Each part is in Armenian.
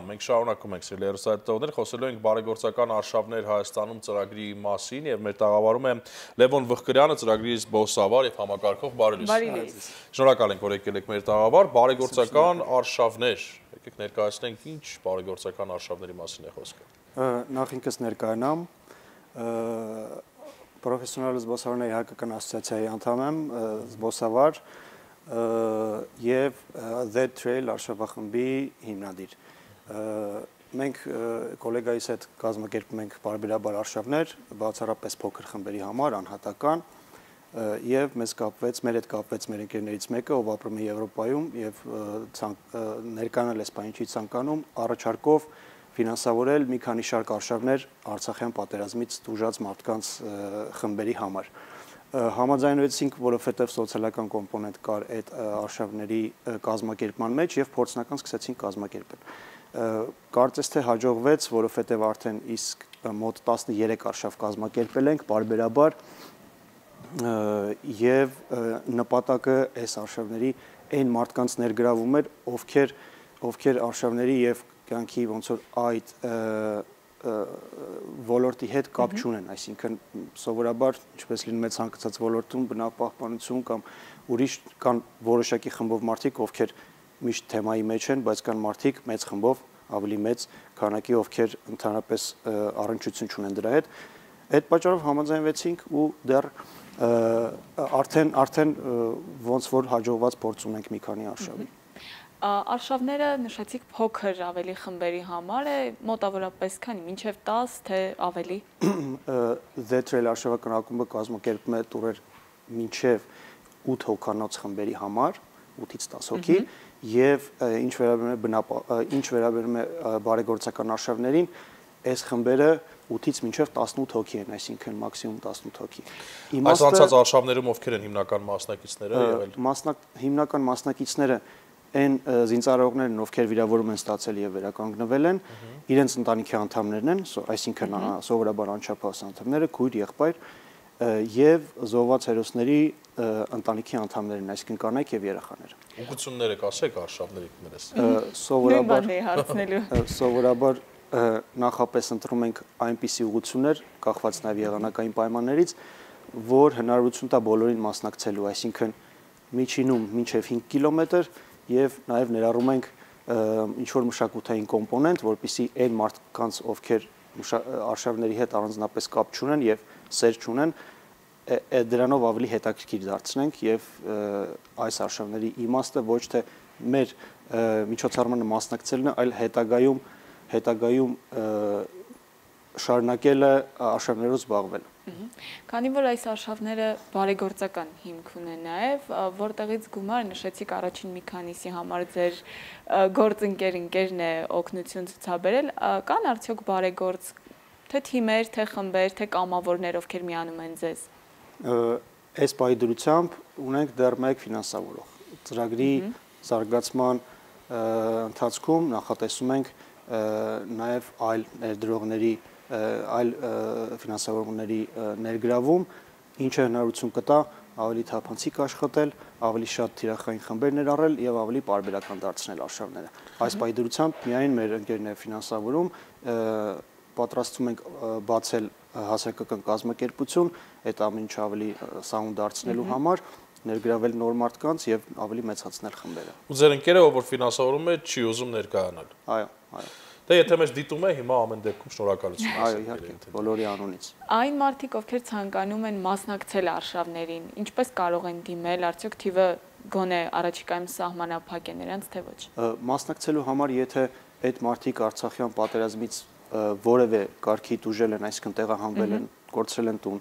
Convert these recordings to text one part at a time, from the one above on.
Մենք շարունակում ենք սիրելի հեռուստադիտողներ, խոսելու ենք բարեգործական արշավներ Հայաստանում ծրագրի մասին եւ մեր տաղավարում է Լևոն Վղկրյանը, ծրագրի զբոսավար եւ համակարգող բարի լույս։ Շնորհակալ ենք, որ եկել եք մեր տաղավար, բարեգործական արշավներ։ Եկեք ներկայացնենք ինչ բարեգործական արշավների մասին է խոսքը։ Նախ ինքս ներկայանամ, պրոֆեսիոնալ զբոսավարների հայկական ասոցիացիայի անդամ եմ, զբոսավար և The Trail արշավախմբի հիմնադիր։ Մենք կոլեգայիս հետ կազմակերպում ենք պարբերաբար արշավներ, բացառապես փոքր խմբերի համար, անհատական, և մեր հետ կապվեց մեր ընկերներից մեկը, ով ապրում է Եվրոպայում և ներկայանալ Էսպանիայի չի ցանկանում, առաջարկով ֆինանսավորել մի քանի շարք արշավներ Արցախյան պատերազմից տուժած մարդկանց խմբերի համար։ Համաձայնվեցինք, որովհետև սոցիալական կոմպոնենտ կար այդ արշավների կազմակերպման մեջ և փորձնական սկսեցինք կազմակերպել։ Կարծես թե հաջողվեց, որովհետև արդեն իսկ մոտ 13 արշավ կազմակերպել ենք պարբերաբար և նպատակը այս արշավների այն մարդկանց ներգրավում էր, ովքեր արշավների և կյանքի ոնց որ այդ ոլորտի հետ կապ չունեն, այսինքն սովորաբար ինչպես լինում է ցանկացած ոլորտում բնապահպանություն կամ ուրիշ կան որոշակի խմբով մարդիկ, ովքեր միշտ թեմայի մեջ են, բայց կան մարդիկ մեծ խմբով, ավելի մեծ քանակի, ովքեր ընդհանրապես առնչություն չունեն դրա հետ։ Այդ պատճառով համաձայնվեցինք ու դեռ արդեն ոնց որ հաջողված փորձ ունենք մի քանի արշավի։ Արշավները նշեցիք փոքր ավելի խմբերի համար է, մոտավորապես քանի, մինչև 10, թե ավելի։ The Trail արշավական ակումբը կազմակերպում է տուրեր մինչև 8 հոգանոց խմբերի համար, 8-ից 10 հոգի, և ինչ վերաբերում է բարեգործական արշավներին, այս խմբերը 8-ից մինչև 18 հոգի են, այսինքն մաքսիմում 18 հոգի։ Այս անցած արշավներում ովքեր են հիմնական մասնակիցները եղել։ Հիմնական մասնակիցները այն զինծառայողներն, ովքեր վիրավորում են ստացել և վերականգնվել են, իրենց ընտանիքի անդամներն են, այսինքն սովորաբար անչափահաս անդամները, քույր, եղբայր, և զոհված հերոսների ընտանիքի անդամներն, այսինքն կանայք և երեխաներ։ Ուղղությունները կասեք արշավների դերս։ Սովորաբար նախապես ընտրում ենք այնպիսի ուղղություններ, կախված նաև եղանակային պայմաններից, որ հնարավորություն տա բոլորին մասնակցելու, այսինքն միջինում մինչև 5 կիլոմետր և նաև ներառում ենք ինչ-որ մշակութային կոմպոնենտ, որպեսզի այն մարդկանց, ովքեր արշավների հետ առանձնապես կապ չունեն և սեր չունեն, դրանով ավելի հետաքրքիր դարձնենք և այս արշավների իմաստը ոչ թե մեր միջոցառմանը մասնակցելն է, այլ հետագայում շարունակելը արշավներով զբաղվել։ Քանի որ այս արշավները բարեգործական հիմք ունեն նաև, որտեղից գումար նշեցիք առաջին մի քանիսի համար ձեր գործընկերն է օգնություն ցուցաբերել, կան արդյոք բարեգործ թե թիմեր, թե խմբեր, թե կամավորներ, ովքեր միանում են ձեզ։ Այս պայդրությամբ ունենք դեռ մեկ ֆինանսավորող։ Ծրագրի զարգացման ընթացքում նախատեսում ենք նաև այլ ներդրողների, այլ ֆինանսավորողների ներգրավում, ինչը հնարավորություն կտա ավելի թափանցիկ աշխատել, ավելի շատ թիրախային խմբեր ներառել և ավելի պարբերական դարձնել արշավները։ Այս պայդրությամբ միայն մեր ընկերն է ֆինանսավորում, պատրաստվում ենք բացել հասարակական կազմակերպություն, այդ ամեն ինչ ավելի սահուն դարձնելու համար, ներգրավել նոր մարդկանց և ավելի մեծացնել խմբերը։ Ու ձեր ընկերը, ով որ ֆինանսավորում է, չի ուզում ներկայանալ։ Այո։ Դե եթե մեզ դիտում է, հիմա ամեն դեպքում շնորհակալություն։ Այո, իհարկե, բոլորի անունից։ Այն մարդիկ, ովքեր ցանկանում են մասնակցել արշավներին, ինչպես կարող են դիմել, արդյոք թիվը գոնե առաջիկայում սահմանափակ է նրանց, թե ոչ։ Մասնակցելու համար, եթե այդ մարդիկ Արցախյան պատերազմից որևէ կարգի տուժել են, այսինքն տեղահանվել են, կորցրել են տուն,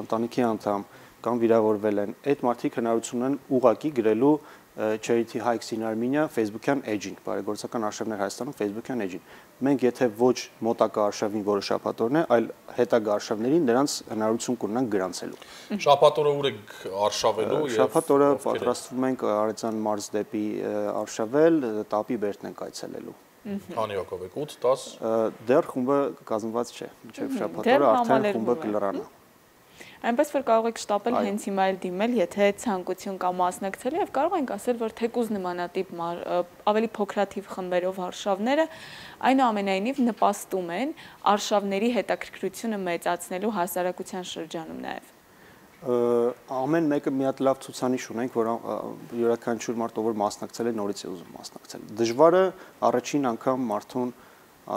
ընտանիքի անդամ կամ վիրավորվել են, այդ մարդիկ հնարավորություն ունեն ուղղակի գրելու Charity Hikes in Armenia Facebook-յան էջին, բարեգործական արշավներ Հայաստանում Facebook-յան էջին։ Մենք եթե ոչ մոտակա արշավին, որը շաբաթօրն է, այլ հետագա արշավներին նրանց հնարավորություն կունենանք գրանցելու։ Շաբաթօրը ուր եք արշավելու։ Շաբաթօրը պատրաստվում ենք Արեցան մարզ դեպի արշավել, Տապի Բերդն ենք այցելելու։ Քանի հոգով եք, 8-10։ Դեռ խումբը կազմված չէ, մինչև շաբաթօրը արդեն խումբը կլրանա։ այնպես որ կարող եք շտապել հենց հիմա էլ դիմել, եթե ցանկություն կա մասնակցելու եւ կարող ենք ասել, որ թեկուզ նմանատիպ ավելի փոքրաթիվ խմբերով արշավները այնուամենայնիվ նպաստում են արշավների հետաքրքրությունը մեծացնելու հասարակության շրջանում նաեւ։ Ամեն մեկը մի հատ լավ ցուցանիշ ունենք, որ յուրաքանչյուր մարդ ով մասնակցել է նորից է ուզում մասնակցել։ Դժվարը առաջին անգամ մարդուն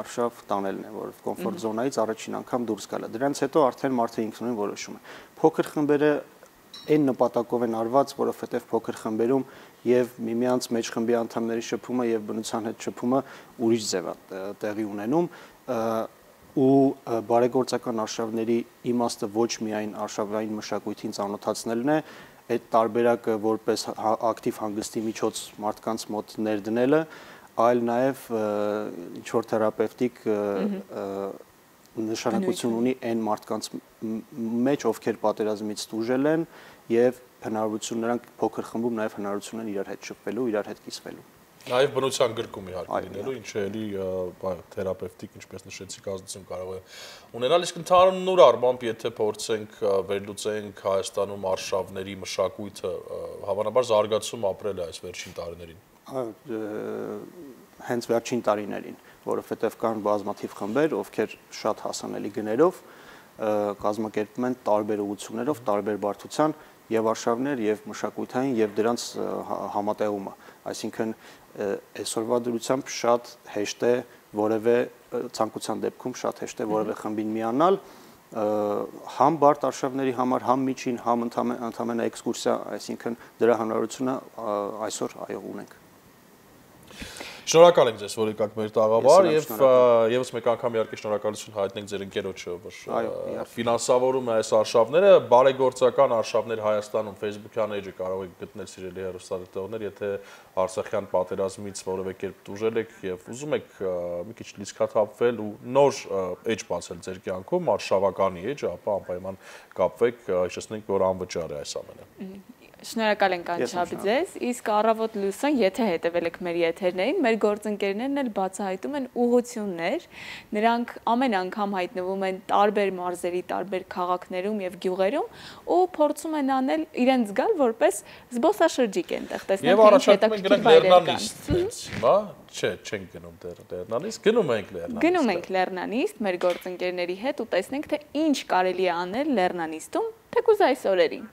արշավ տանելն է, որ կոմֆորտ զոնայից առաջին անգամ դուրս գալը։ Դրանից հետո արդեն մարդը ինքնուրույն որոշում է։ Փոքր խմբերը այն նպատակով են արված, որովհետև փոքր խմբերում եւ միմյանց մեջ խմբի անդամների շփումը եւ բնության հետ շփումը ուրիշ ձև է տեղի ունենում ու բարեգործական արշավների իմաստը ոչ միայն արշավային մշակույթին ծանոթացնելն է, այդ տարբերակը որպես ակտիվ հանգստի միջոց մարդկանց մոտ ներդնելը, այլ նաև ինչ-որ թերապևտիկ նշանակություն ունի այն մարդկանց մեջ, ովքեր պատերազմից տուժել են եւ հնարավորություն նրանք փոքր խմբում նաև հնարավորություն են իրար հետ շփվելու, իրար հետ կիսվելու։ Նաև բնության գրկում իհարկե լինելու, ինչը էլի թերապևտիկ, ինչպես նշեցիք, ազդեցություն կարող է ունենալ, իսկ ընդհանուր առմամբ, եթե փորձենք վերլուծենք Հայաստանում արշավների մշակույթը, հավանաբար զարգացում ապրել է այս վերջին տարիներին։ Հենց վերջին տարիներին, որովհետև կան բազմաթիվ խմբեր, ովքեր շատ հասանելի գներով կազմակերպում են տարբեր ուղղություններով, տարբեր բարդության եւ արշավներ եւ մշակութային եւ դրանց համատեղումը, այսինքն այսօրվա դրությամբ շատ հեշտ է որևէ ցանկության դեպքում շատ հեշտ է որևէ խմբին միանալ համ բարդ արշավների համար, համ միջին, համ ընդհանրապես էքսկուրսիա, այսինքն դրա հնարավորությունը այսօր այո ունենք։ Շնորհակալ ենք ձեզ, որ եկաք մեր տաղավար եւ եւս մեկ անգամ իհարկե շնորհակալություն հայտնենք ձեր ընկերոջը, որ ֆինանսավորում է այս արշավները, բարեգործական արշավներ Հայաստանում Facebook-յան էջը կարող եք գտնել սիրելի հեռուստադիտողներ, եթե Արցախյան պատերազմից որևէ կերպ տուժել եք եւ ուզում եք մի քիչ լիցքաթափվել ու նոր էջ բացել ձեր կյանքում, արշավականի էջ, ապա անպայման կապվեք, հիշեցնենք, որ անվճար է այս ամենը։ Շնորհակալ ենք անչափ ձեզ, իսկ առավոտ լուսան, եթե հետևել եք մեր եթերներին, մեր գործընկերներն էլ բացահայտում են ուղղություններ, նրանք ամեն անգամ հայտնվում են տարբեր մարզերի, տարբեր քաղաքներում եւ գյուղերում ու փորձում են անել իրենց զգալ որպես զբոսաշրջիկ այնտեղ, տեսնենք թե ինչ հետաքրքիր վայրեր կան։ Հիմա չէ, չենք գնում դեռ Լեռնանիստ, գնում ենք Լեռնանիստ։ Գնում ենք Լեռնանիստ մեր գործընկերների հետ ու տեսնենք թե ինչ կարելի է անել Լեռնանիստում, թեկուզ այս օրերին։